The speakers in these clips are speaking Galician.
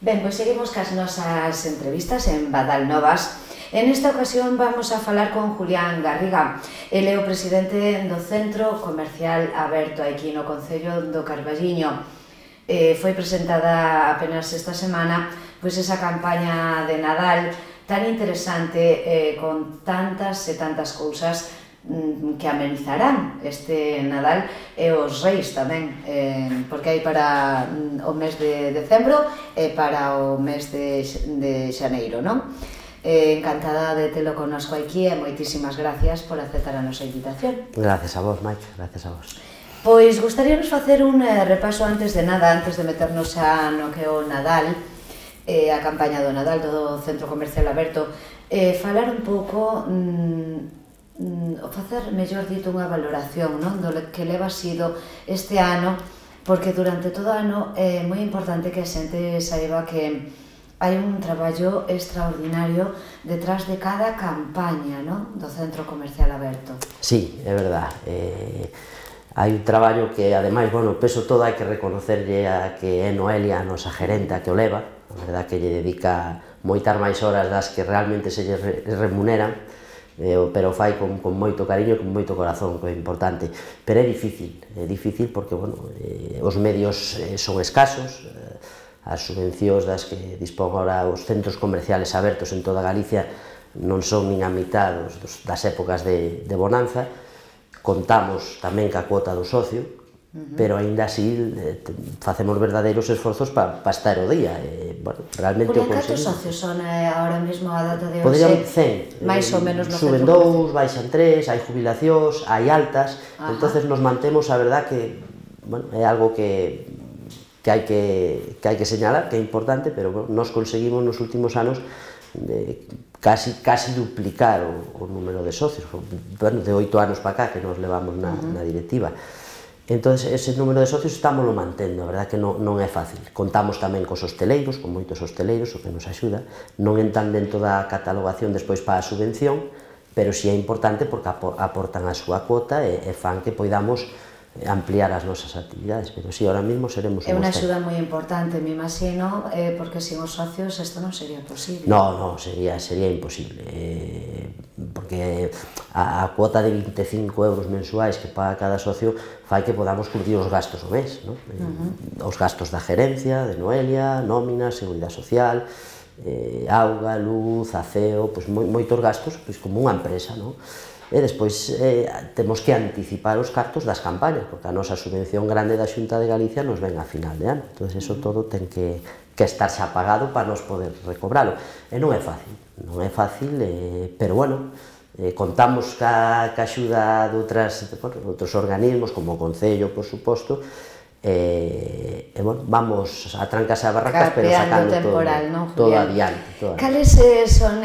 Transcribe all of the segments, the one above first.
Ben, pois seguimos cas nosas entrevistas en Badal Novas. En esta ocasión vamos a falar con Julián Garriga. Ele é o presidente do Centro Comercial Aberto aquí no Concello do Carballiño. Foi presentada apenas esta semana pois esa campaña de Nadal tan interesante con tantas e tantas cousas que amenizarán este Nadal e os Reis tamén, porque hai para o mes de decembro e para o mes de xaneiro, non? Encantada de telo connosco aquí e moitísimas gracias por aceptar a nosa invitación. Gracias a vos, Mike, gracias a vos. Pois gustaríanos facer un repaso antes de nada, antes de meternos no que é o Nadal, a campaña do Nadal do Centro Comercial Aberto, falar un pouco, facer, mellor dito, unha valoración do que leva sido este ano, porque durante todo o ano é moi importante que a xente saiba que hai un traballo extraordinario detrás de cada campaña do Centro Comercial Aberto. Sí, é verdad. Hai un traballo que, ademais, bueno, peso todo hai que reconocerlle a que é Noelia, a nosa gerenta, que o leva. A verdad que lle dedica moitas máis horas das que realmente se lle remuneran, pero fai con moito cariño e con moito corazón, que é importante. Pero é difícil porque, bueno, os medios son escasos, as subvencións das que dispón agora os centros comerciales abertos en toda Galicia non son nin a mitad das épocas de bonanza. Contamos tamén ca cuota do socio, pero aínda así facemos verdadeiros esforzos para estar o día. Realmente o conseguimos. Cantos socios son ahora mesmo a data de hoxe? Poderían 100. Mais ou menos no suben 2, baixan 3, hai jubilacións, hai altas, entonces nos mantemos, a verdad que é algo que hai que señalar, que é importante, pero nos conseguimos nos últimos anos casi duplicar o número de socios, de 8 anos para cá que nos levamos na directiva. Entón, ese número de socios estamos mantendo, a verdad que non é fácil. Contamos tamén cos hosteleiros, con moitos hosteleiros, o que nos axuda. Non entran dentro da catalogación despois para a subvención, pero si é importante porque aportan a súa cuota e fan que poidamos ampliar as nosas actividades, pero si, ahora mesmo seremos un... É unha axuda moi importante, me imagino, porque sin os socios isto non sería posible. Non, sería imposible, porque a cuota de 25 euros mensuais que paga cada socio fai que podamos cubrir os gastos do mes, os gastos da gerencia, de Noelia, nómina, seguridade social, auga, luz, aceo, moitos gastos como unha empresa, non? E despois temos que anticipar os cartos das campañas, porque a nosa subvención grande da Xunta de Galicia nos ven a final de ano. Entón, eso todo ten que estar xa pagado para nos poder recobralo. E non é fácil, pero bueno, contamos ca axuda de outros organismos, como o Concello, por suposto, e vamos a trancas e a barracas, pero sacando todo adiante. Cales son...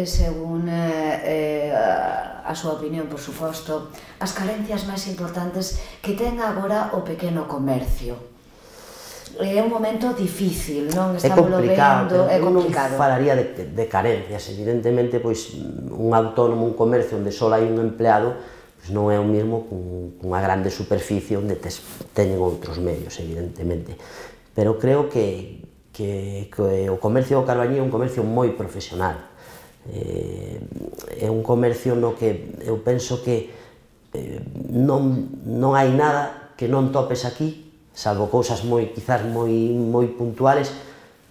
según a súa opinión, por suposto, as carencias máis importantes que ten agora o pequeno comercio? É un momento difícil, non? É complicado, eu non falaría de carencias, evidentemente, pois un autónomo, un comercio onde só hai un empleado, non é o mesmo cunha grande superficie onde teñen outros medios, evidentemente. Pero creo que o comercio do Carballiño é un comercio moi profesional. É un comercio no que eu penso que non hai nada que non topes aquí, salvo cousas quizás moi puntuales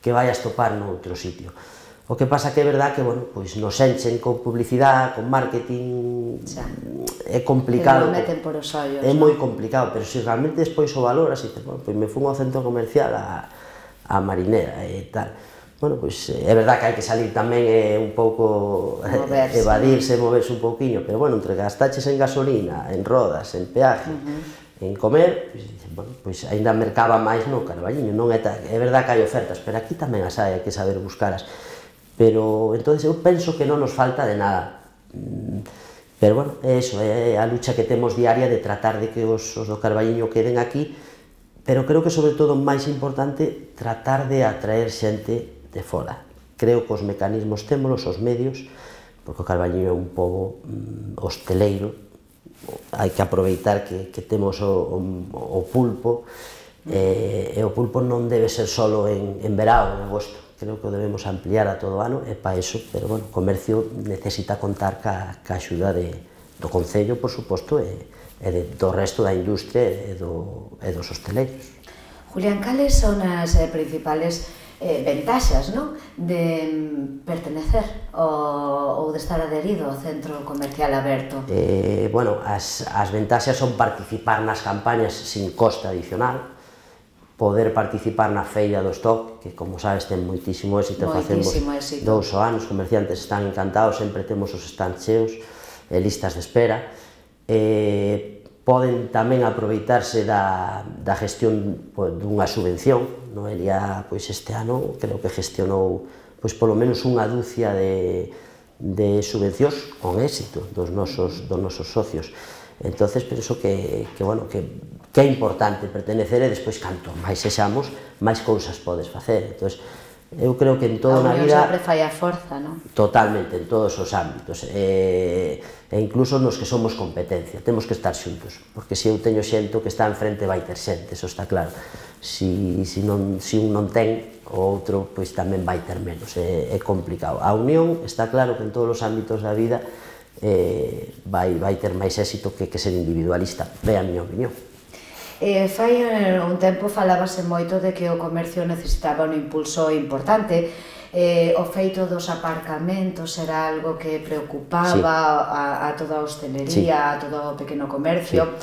que vayas topar noutro sitio. O que pasa que é verdad que nos enchen con publicidade, con marketing, é complicado, é moi complicado, pero se realmente despois o valoras e dices, pois me fun ao centro comercial a Marinera e tal. Bueno, pois é verdad que hai que salir tamén un pouco, evadirse, moverse un pouquiño, pero bueno, entre gastaches en gasolina, en rodas, en peaje, en comer, pois ainda mercaba máis no Carballiño, non é verdad que hai ofertas, pero aquí tamén as hai que saber buscalas. Pero, entón, eu penso que non nos falta de nada. Pero, bueno, é iso, é a lucha que temos diaria de tratar de que os do Carballiño queden aquí, pero creo que, sobre todo, máis importante, tratar de atraer xente de fora. Creo que os mecanismos témolos, os medios, porque o Carballiño é un pobo hosteleiro, hai que aproveitar que temos o pulpo, E o pulpo non debe ser solo en verao, en agosto, creo que o debemos ampliar a todo o ano, e para iso, pero bueno, o comercio necesita contar ca axuda do Concello, por suposto, e do resto da industria e dos hosteleiros. Julián, cales son as principales ventaxas de pertenecer ou de estar adherido ao centro comercial aberto? Bueno, as ventaxas son participar nas campañas sin coste adicional, poder participar na feira do stock, que como sabes ten moitísimo éxito, facemos 2 anos, os comerciantes están encantados, sempre temos os stands cheos, listas de espera. Poden tamén aproveitarse da gestión dunha subvención. Noelia este ano creo que gestionou polo menos unha dúcia de subvencións con éxito dos nosos socios. Entonces penso que é importante pertenecer, e despois canto máis sexamos, máis cousas podes facer. Eu creo que en todo na vida... A unión sempre fai a forza, non? Totalmente, en todos os ámbitos, e incluso nos que somos competencia, temos que estar xuntos, porque se eu teño xento que está enfrente vai ter xente, eso está claro. Se un non ten, o outro tamén vai ter menos, é complicado. A unión está claro que en todos os ámbitos da vida vai ter máis éxito que ser individualista, é a miña opinión. Fai un tempo falábase moito de que o comercio necesitaba un impulso importante. O feito dos aparcamentos era algo que preocupaba a toda a hostelería, a todo o pequeno comercio.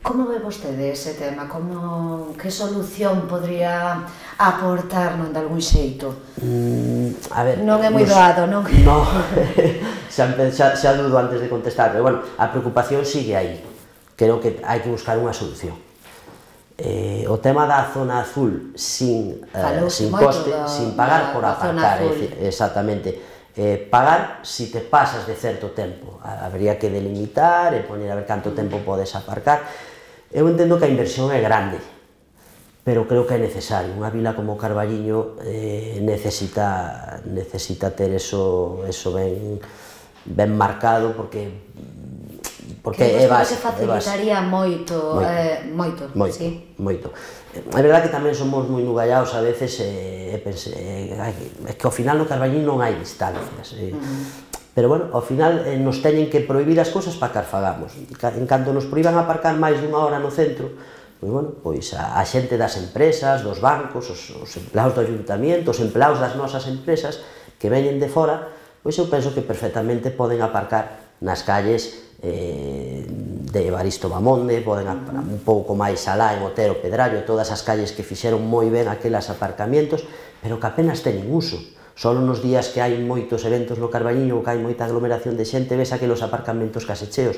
Como ve vostede ese tema? Que solución podría aportar de algún xeito? Non é moi doado, non? Non, xa dudo antes de contestar, pero bueno, a preocupación sigue aí. Creo que hai que buscar unha solución. O tema da zona azul sin coste, sin pagar por aparcar, exactamente, pagar si te pasas de certo tempo, habría que delimitar e poner a ver canto tempo podes aparcar. Eu entendo que a inversión é grande, pero creo que é necesario. Unha vila como Carballiño necesita ter eso ben marcado, porque é base. Que facilitaría moito. É verdade que tamén somos moi nugallados a veces, é que ao final no Carballiño non hai distancias, pero bueno, ao final nos teñen que prohibir as cousas para que as fagamos. En canto nos prohíban aparcar máis dunha hora no centro, pois a xente das empresas, dos bancos, os empleados do ayuntamiento, os empleados das nosas empresas que veñen de fora, pois eu penso que perfectamente poden aparcar nas calles de Evaristo Bamonde, poden un pouco máis alá en Otero Pedrallo, todas as calles que fixeron moi ben aquelas aparcamentos, pero que apenas teñen uso. Só nos días que hai moitos eventos no Carballiño, que hai moita aglomeración de xente, ves aqueles aparcamentos case cheos,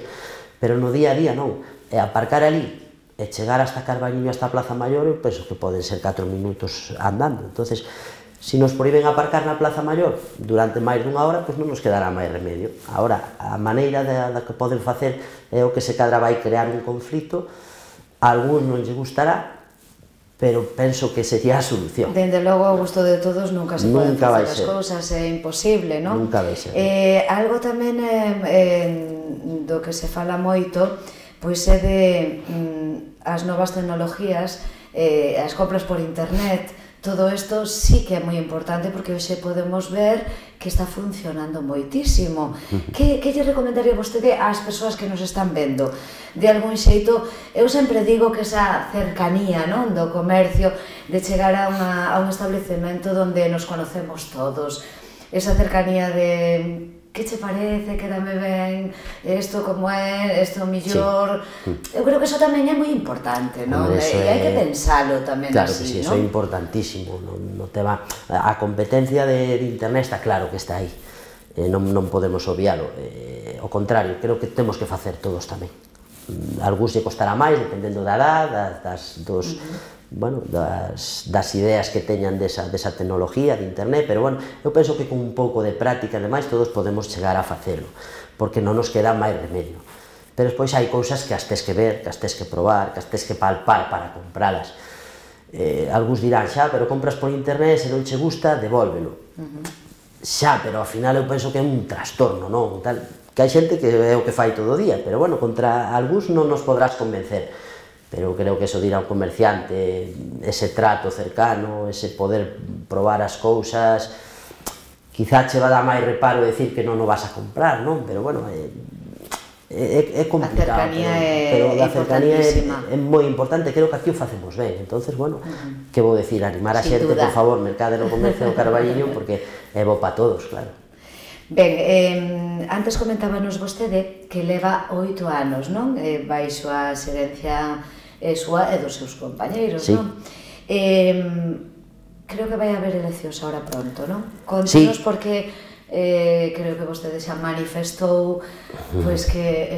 pero no día a día non. E aparcar ali e chegar hasta Carballiño, hasta a Plaza Maior, eu penso que poden ser 4 minutos andando. Entonces, se nos prohíben aparcar na Plaza Maior durante máis dunha hora, pois non nos quedará máis remedio. Agora, a maneira da que poden facer é o que se cadra vai crear un conflito, a algúns non lle gustará, pero penso que sería a solución. Dende logo, ao gusto de todos, nunca se poden facer as cousas, é imposible, non? Nunca vai ser. Algo tamén do que se fala moito, pois é de as novas tecnologías, as compras por internet. Todo isto sí que é moi importante, porque hoxe podemos ver que está funcionando moitísimo. Que lle recomendaría vostede ás persoas que nos están vendo? De algún xeito, eu sempre digo que esa cercanía do comercio, de chegar a un establecemento onde nos conocemos todos, esa cercanía de que che parece, quédame ben, isto como é, isto mellor... Eu creo que iso tamén é moi importante, non? E hai que pensalo tamén así, non? Claro que sí, iso é importantísimo. A competencia de internet está claro que está aí, non podemos obvialo. Ao contrario, creo que temos que facer todos tamén. Algúns lle costará máis, dependendo da edad, das ideas que teñan desa tecnología de internet, pero bueno, eu penso que con un pouco de práctica, ademais, todos podemos chegar a facelo, porque non nos queda máis remedio. Pero despois hai cousas que as tes que ver, que as tes que probar, que as tes que palpar para compralas. Algúns dirán, xa, pero compras por internet, se non che gusta, devólvelo. Xa, pero ao final eu penso que é un trastorno, non? Que hai xente que é o que fai todo o día, pero bueno, contra algúns non nos podrás convencer. pero creo que eso de ir a un comerciante, ese trato cercano, ese poder probar as cousas, quizá che va dar máis reparo decir que non o vas a comprar, non? Pero bueno, é complicado, pero a cercanía é moi importante, creo que aquí o facemos ben, entonces, bueno, que vou decir, animar a xente, por favor, mercade no comercio do Carballiño, porque é bo para todos, claro. Ben, antes comentábanos vostede que leva 8 anos, non? Baixo a xerencia súa e dos seus compañeiros, non? Creo que vai haber eleccións ahora pronto, non? Contanos porque creo que vostede xa manifestou que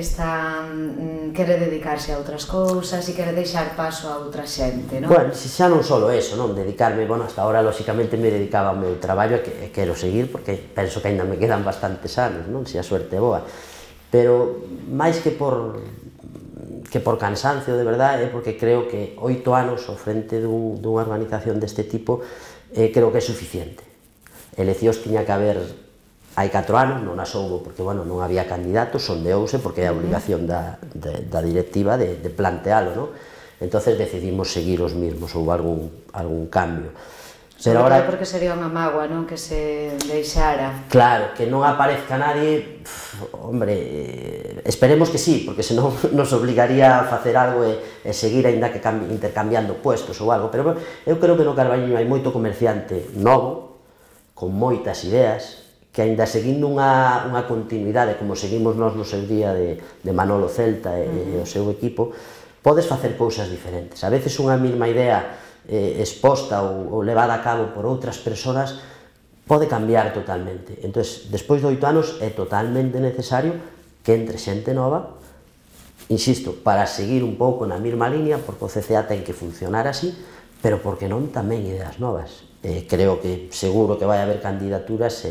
quere dedicarse a outras cousas e quere deixar paso a outra xente, non? Bueno, xa non só eso, non? Dedicarme, bueno, hasta ahora, lóxicamente, me dedicaba ao meu traballo e quero seguir porque penso que ainda me quedan bastantes anos, non? Se a suerte é boa. Pero, máis que por cansancio, de verdade, é porque creo que 8 anos ao frente dunha organización deste tipo creo que é suficiente. Eleccións tiña que haber hai 4 anos, non as houbo porque, bueno, non había candidatos, sondeouse porque é a obligación da directiva de plantealo, non? Entonces decidimos seguir os mesmos, houve algún cambio. Sobre todo porque sería unha mágoa, non? Que se deixara. Claro, que non aparezca nadie, hombre, esperemos que sí, porque senón nos obligaría a facer algo e seguir aínda que intercambiando puestos ou algo, pero eu creo que no Carballiño hai moito comerciante novo, con moitas ideas, que aínda seguindo unha continuidade, como seguimos nós no seu día de Manolo Celta e o seu equipo, podes facer cousas diferentes. A veces unha mesma idea exposta ou levada a cabo por outras persoas pode cambiar totalmente. Entón, despois de 8 anos é totalmente necesario que entre xente nova, insisto, para seguir un pouco na mesma línea, porque o CCA ten que funcionar así, pero porque non tamén ideas novas. Creo que seguro que vai haber candidaturas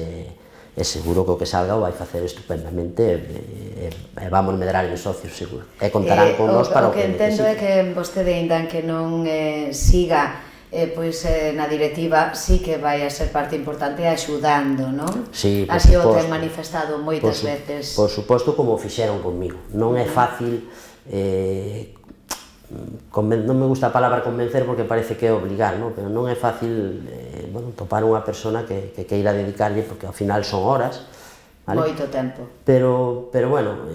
e seguro que o que salga o vai facer estupendamente e vamos medrar en socios, seguro. E contarán con nós para o que necesiten. O que entendo é que vostede, ainda que non siga na directiva, sí que vai a ser parte importante axudando, non? Sí, por suposto. Así o ten manifestado moitas veces. Por suposto, como o fixeron conmigo. Non é fácil, non me gusta a palabra convencer porque parece que é obligar, non? Pero non é fácil topar unha persona que queira dedicarlle, porque ao final son horas, moito tempo. Pero bueno,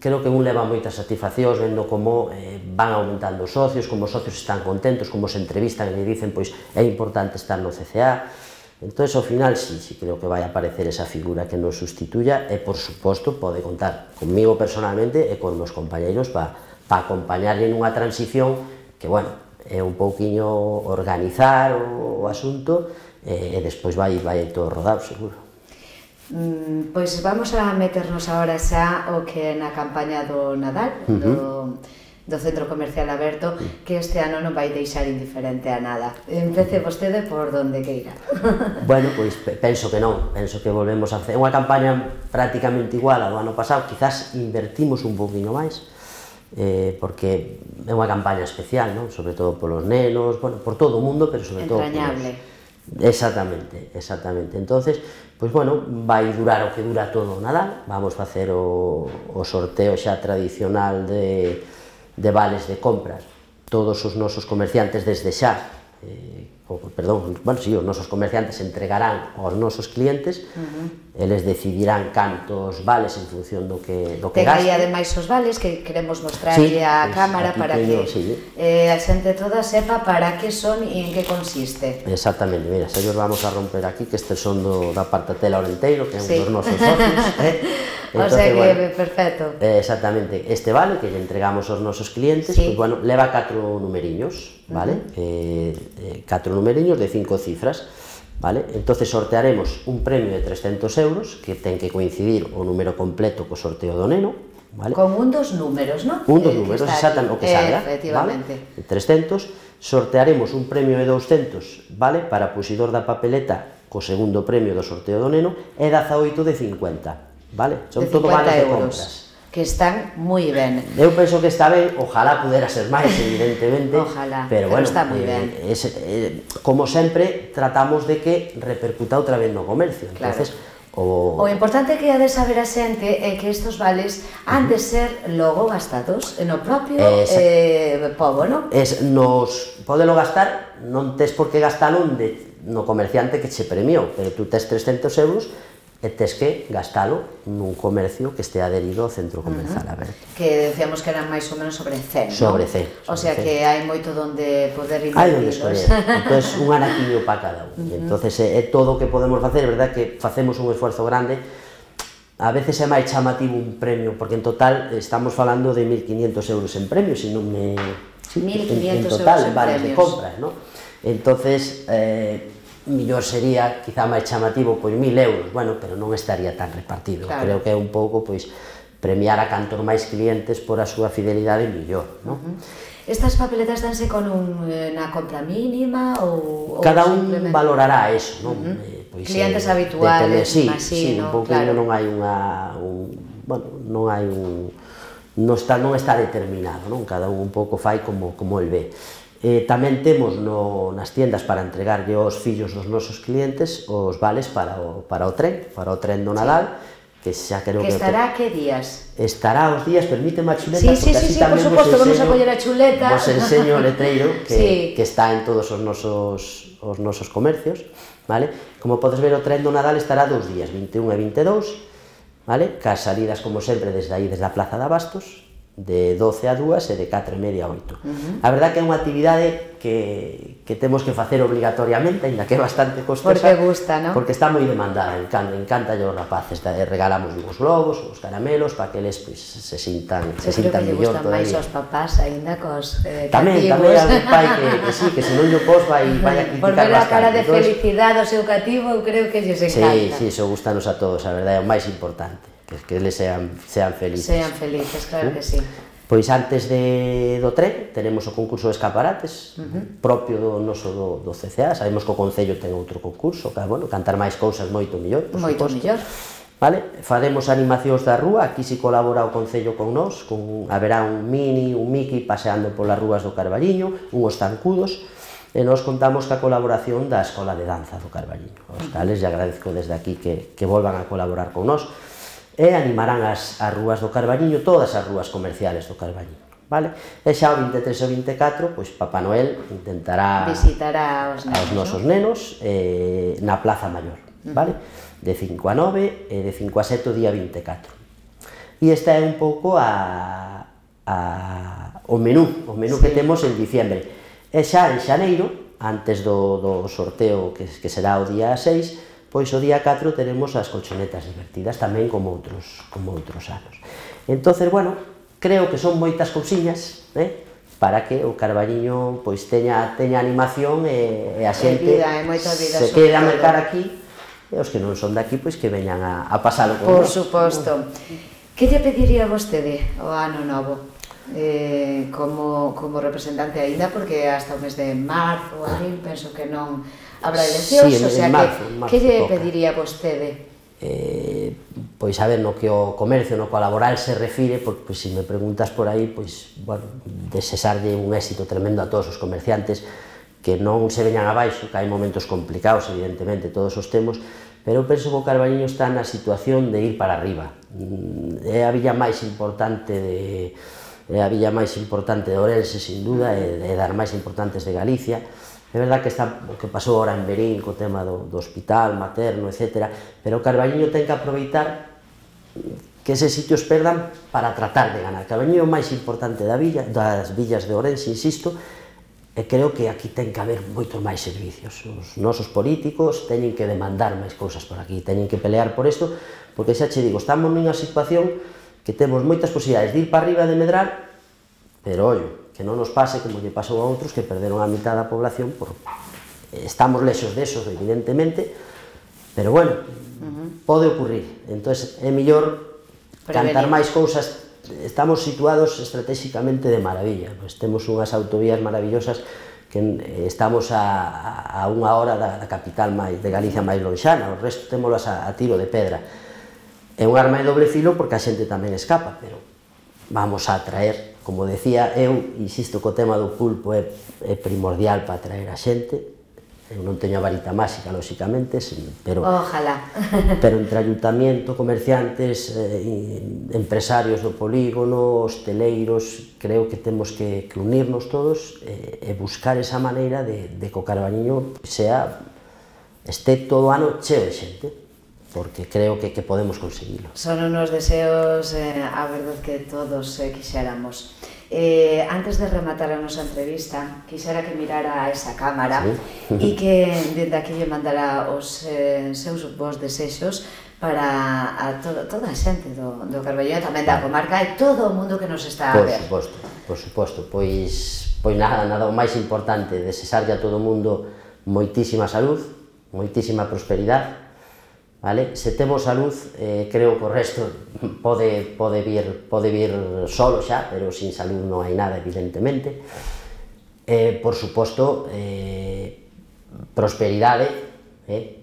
creo que un leva moitas satisfaccións vendo como van aumentando os socios, como os socios están contentos, como se entrevistan e dicen pois é importante estar no CCA. Entón, ao final, sí creo que vai aparecer esa figura que nos sustituya e, por suposto, pode contar conmigo personalmente e con os compañeiros para acompañarlle nunha transición que, bueno, é un pouquiño organizar o asunto e despois vai todo rodado, seguro. Pois vamos a meternos agora xa o que é na campaña do Nadal, do Centro Comercial Aberto, que este ano non vai deixar indiferente a nada. Empece vostede por donde queira. Bueno, pois penso que non, penso que volvemos a facer unha campaña prácticamente igual ao ano pasado, quizás invertimos un pouquinho máis, porque é unha campaña especial, non? Sobre todo polos nenos, bueno, por todo o mundo, pero sobre todo entrañable. Exactamente. Entonces, pois bueno, vai durar o que dura todo o Nadal, vamos facer o sorteo xa tradicional de vales de compras. Todos os nosos comerciantes desde xa, os nosos comerciantes entregarán aos nosos clientes, eles decidirán cantos vales en función do que gasten. Ten aí ademais os vales que queremos mostrarlle á cámara para que a xente toda sepa para que son e en que consiste. Exactamente, mira, se os vamos a romper aquí, que estes son da Partatela Orenteiro, que é un dos nosos socios. O sea que, perfecto. Exactamente, este vale que lle entregamos aos nosos clientes, pois bueno, leva 4 numeriños, vale? 4 numeriños de 5 cifras, vale? Entonces sortearemos un premio de 300 euros, que ten que coincidir o número completo co sorteo do neno, vale? Con un dos números, non? Un dos números, exactamente, o que salga, efectivamente. Vale? 300, sortearemos un premio de 200, vale? Para pusidor da papeleta co segundo premio do sorteo do neno, e 18 de 50. Vale? Son todo vales de compras. Que están moi ben. Eu penso que está ben, ojalá pudera ser máis, evidentemente. Ojalá, pero bueno, está moi ben. Como sempre, tratamos de que repercuta outra vez no comercio. Claro. Entonces, O importante que ha de saber a xente é que estes vales han de ser logo gastados no propio pobo, non? Podelo gastar, non tes por que gastalo no comerciante que che premiou, pero tú tes 300 euros e tes que gastalo nun comercio que este adherido ao centro comercial aberto. Que decíamos que eran máis ou menos sobre 100, non? Sobre 100. O sea que hai moito donde poder invertir. Hai donde escoller. Entón, un anaquiño para cada un. Entón, é todo o que podemos facer, é verdad que facemos un esforzo grande. A veces é máis chamativo un premio, porque en total estamos falando de 1.500 euros en premios, se non me... 1.500 en total, euros en vales de premios. compras, non? Entonces, millor sería, quizá máis chamativo, pois 1.000 euros, bueno, pero non estaría tan repartido. Claro. Creo que é un pouco, pois, premiar a cantor máis clientes por a súa fidelidade millor, non? Estas papeletas danse con unha compra mínima ou cada un valorará eso, non? Pois, clientes habituales, sí, un pouco claro. Non hai non está determinado, non? Cada un pouco fai como el ve. Tamén temos nas tiendas para entregarlle aos fillos dos nosos clientes os vales para o tren do Nadal, que xa creo que... estará que días? Estará os días, permíteme a chuleta, porque así tamén por suposto, vamos a coller a chuleta. Vos enseño o letreiro que está en todos os nosos comercios, vale? Como podes ver, o tren do Nadal estará 2 días, 21 e 22, vale? Cas salidas, como sempre, desde aí, desde a Plaza de Abastos, de 12 a 2 e de 4 e media a 8. A verdad que é unha actividade que temos que facer obligatoriamente, ainda que é bastante costosa. Porque gusta, non? Porque está moi demandada, encanta aos rapaces. Regalamos os globos, os caramelos, para que eles se sintan mellor todavía. Creo que lle gustan máis aos papás, aínda cos cativos. Tamén hai un pai que sí, que se non lle pos vai a criticar bastante. Por ver a cara de felicidade ao seu cativo, eu creo que lles encanta. Sí, iso gustanos a todos, a verdade, é o máis importante. Que eles sean felices. Sean felices, claro que sí. Pois antes do tren tenemos o concurso de escaparates propio do noso do CCA. Sabemos que o Concello ten outro concurso, cantar máis cousas moito mellor, por suposto. Moito mellor. Vale? Faremos animacións da rúa, aquí si colabora o Concello con nós, haberá un Mini, un Mickey paseando polas rúas do Carballiño, unhos zancudos, e nós contamos ca colaboración da Escola de Danza do Carballiño. Os tales, e agradezco desde aquí que volvan a colaborar con nós, e animarán as rúas do Carballiño, todas as rúas comerciales do Carballiño, vale? E xa o 23 e o 24, pois Papá Noel intentará visitará aos nosos nenos na Plaza Maior, vale? De 5 a 9 e de 5 a 7 o día 24. E esta é un pouco o menú que temos en diciembre. E xa en xaneiro, antes do sorteo que será o día 6, pois o día 4 teremos as colchonetas divertidas, tamén como outros anos. Entonces, bueno, creo que son moitas cousiñas, para que o Carballiño pois teña animación e a xente se quede a mercar aquí, e os que non son daqui, pois que veñan a pasalo con nós. Por suposto. Que lle pediría vostede ao ano novo? Como representante aínda, porque hasta o mes de marzo ou abril penso que non habrá eleccións, o sea que lle pediría vostede? Pois a ver, no que o comercio, no que o laboral se refire, porque se me preguntas por aí, pois, bueno, desexarlle un éxito tremendo a todos os comerciantes, que non se veñan abaixo, que hai momentos complicados, evidentemente, todos os temos, pero eu penso que o Carballiño está na situación de ir para arriba. É a villa máis importante de Ourense, sin duda, e das máis importantes de Galicia. É verdad que está o que pasou agora en Verín co tema do hospital materno, etc. Pero o Carballiño ten que aproveitar que eses sitios perdan para tratar de ganar. Carballiño é o máis importante das villas de Ourense, insisto, e creo que aquí ten que haber moitos máis servicios. Os nosos políticos teñen que demandar máis cousas por aquí, teñen que pelear por isto, porque xa che digo, estamos nunha situación que temos moitas posibilidades de ir para arriba de medrar, pero ollo, que non nos pase como lle pasou a outros que perderon a mitad da población. Estamos lexos desos, evidentemente, pero bueno, pode ocurrir. Entón é mellor cantar máis cousas. Estamos situados estratégicamente de maravilla, temos unhas autovías maravillosas que estamos a unha hora da capital de Galicia máis lonxana, o resto témolas a tiro de pedra. É un arma de doble filo porque a xente tamén escapa, pero vamos a atraer, como decía eu, insisto que o tema do pulpo é primordial para atraer a xente, Eu non teño a varita máxica, lóxicamente, pero Ojalá. pero entre ayuntamiento, comerciantes, empresarios do polígono, hosteleiros, creo que temos que unirnos todos e buscar esa maneira de que o Carballiño este todo o ano cheo de xente, porque creo que podemos conseguilo. Son unos deseos, a verdade, que todos quixéramos. Antes de rematar a nosa entrevista, quixera que mirara a esa cámara e que dende aquí lle mandara os seus bons desexos para toda a xente do Carballiño, tamén da comarca e todo o mundo que nos está a ver. Por suposto, pois nada o máis importante, desexarlle a todo o mundo moitísima salud, moitísima prosperidade, vale? Se temos salud, creo que o resto pode vir solo xa, pero sin salud non hai nada, evidentemente. Por suposto, prosperidade,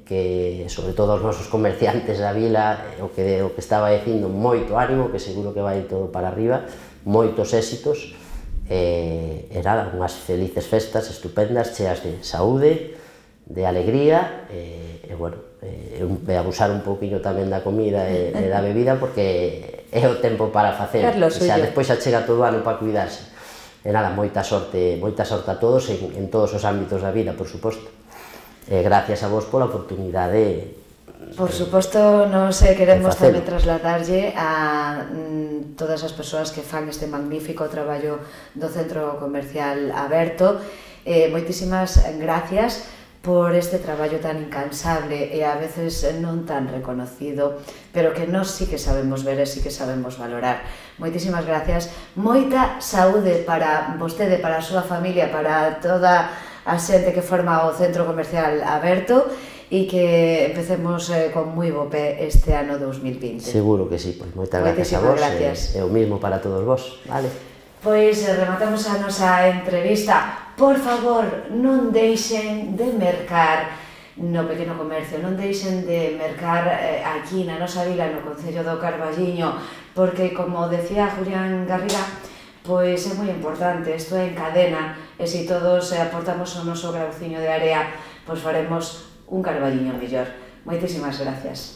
que sobre todo os nosos comerciantes da vila, o que estaba dicindo, moito ánimo, que seguro que vai todo para arriba, moitos éxitos, e nada, unhas felices festas estupendas, cheas de saúde, de alegría, e bueno, abusar un pouquinho tamén da comida e da bebida, porque é o tempo para facer, xa despois xa chega todo o ano para cuidarse. E nada, moita sorte a todos en todos os ámbitos da vida, por suposto. E gracias a vos pola oportunidade. Por suposto, nos queremos tamén trasladarlle a todas as persoas que fan este magnífico traballo do Centro Comercial Aberto. Moitísimas gracias por este traballo tan incansable e a veces non tan reconocido, pero que nós sí que sabemos ver e sí que sabemos valorar. Moitísimas gracias, moita saúde para vostede, para a súa familia, para toda a xente que forma o Centro Comercial Aberto e que empecemos con moi bo pé este ano 2020. Seguro que sí, pois moitas gracias a vos e o mismo para todos vos, vale? Pois rematamos a nosa entrevista. Por favor, non deixen de mercar no pequeno comercio, non deixen de mercar aquí na nosa vila, no concello do Carballiño, porque, como decía Julián Garriga, pois é moi importante, isto é en cadena, e se todos aportamos o noso grauciño de area, pois faremos un Carballiño mellor. Moitísimas gracias.